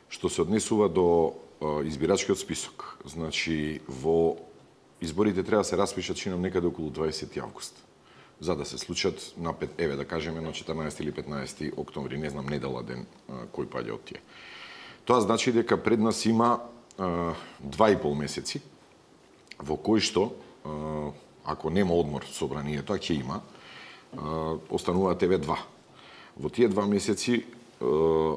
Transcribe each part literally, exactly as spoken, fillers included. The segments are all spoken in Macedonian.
што се однесува до избирачкиот список. Значи, во изборите треба да се распишат чинам некаде околу дваесети август. За да се случат на пет, еве да кажеме на четрнаесети или петнаесети октомври, не знам недела ден кој паѓа од тие. Тоа значи дека пред нас има а, два и пол месеци во кои што а, ако нема одмор собранието, а ќе има, а, остануваат еве два. Во тие два месеци а,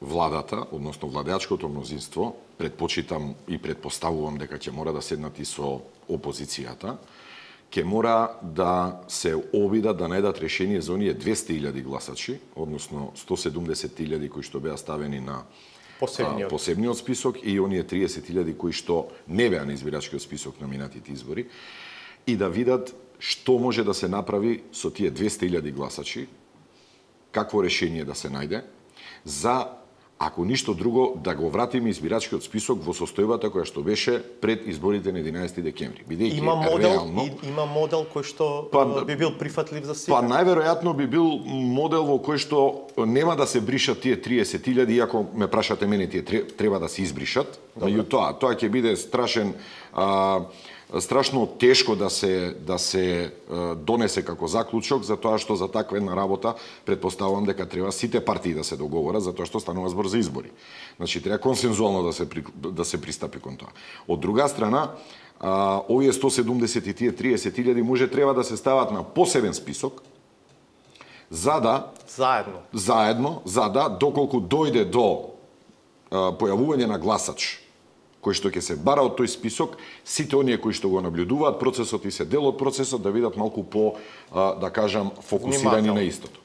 владата, односно владеачкото мнозинство, предпочитам и предпоставувам дека ќе мора да седнат и со опозицијата, ќе мора да се обидат да најдат решение за оние двесте илјади гласачи, односно сто седумдесет илјади кои што беа ставени на посебниот, а, посебниот список и оние триесет илјади кои што не беа на избирачкиот список на минатите избори, и да видат што може да се направи со тие двесте илјади гласачи, какво решение да се најде, за ако ништо друго, да го вратиме избирачкиот список во состојбата која што беше пред изборите на единаесети декември. Бидејќи има модел, реално, има модел кој што па, би бил прифатлив за сите. Па најверојатно би бил модел во кој што нема да се бришат тие триесет илјади, иако ме прашате мене, тие треба да се избришат. Меѓутоа, тоа ќе биде страшен а, страшно тешко да се да се донесе како заклучок, за тоа што за таква една работа претпоставувам дека треба сите партии да се договорат, за тоа што станува збор за избори. Значи треба консензуално да се да се пристапи кон тоа. Од друга страна, а, овие сто седумдесет и тие триесет илјади може треба да се стават на посебен список, за да заедно заедно за да доколку дојде до а, појавување на гласач кој што ќе се бара од тој список, сите оние кои што го наблюдуваат процесот и се дел од процесот да видат малку по, да кажам, фокусирани на истото.